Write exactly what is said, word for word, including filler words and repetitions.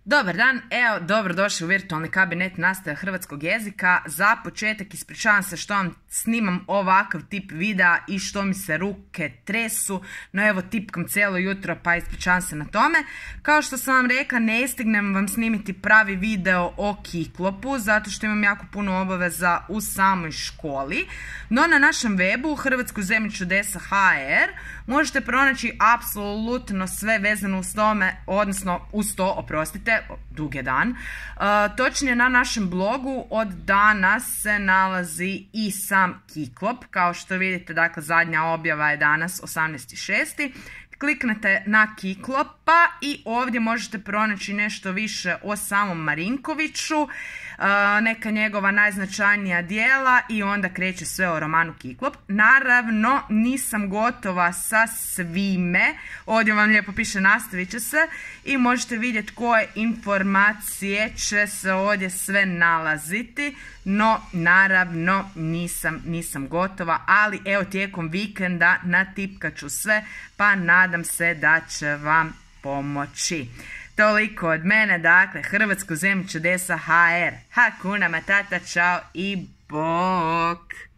Dobar dan, evo dobrodošli u virtualni kabinet nastave hrvatskog jezika. Za početak ispričavam se što vam snimam ovakav tip videa i što mi se ruke tresu, no evo tipkam cijelo jutro pa ispričavam se na tome. Kao što sam vam rekla, ne stignem vam snimiti pravi video o Kiklopu zato što imam jako puno obaveza u samoj školi, no na našem webu hrvatsko zemlje čudesa punkt h r možete pronaći apsolutno sve vezano uz tome, odnosno uz to, oprostite, dug je dan. Uh, točnije na našem blogu od danas se nalazi i sam Kiklop. Kao što vidite, dakle, zadnja objava je danas osamnaesti šesti Kliknete na Kiklopa i ovdje možete pronaći nešto više o samom Marinkoviću, neka njegova najznačajnija dijela i onda kreće sve o romanu Kiklop. Naravno, nisam gotova sa svime. Ovdje vam lijepo piše nastavit će se i možete vidjeti koje informacije će se ovdje sve nalaziti. No, naravno, nisam, nisam gotova, ali evo tijekom vikenda natipkat ću sve, pa nadam se da će vam pomoći. Toliko od mene, dakle, hrvatsko zemlje čudesa punkt h r. Hakuna matata, čao i bok!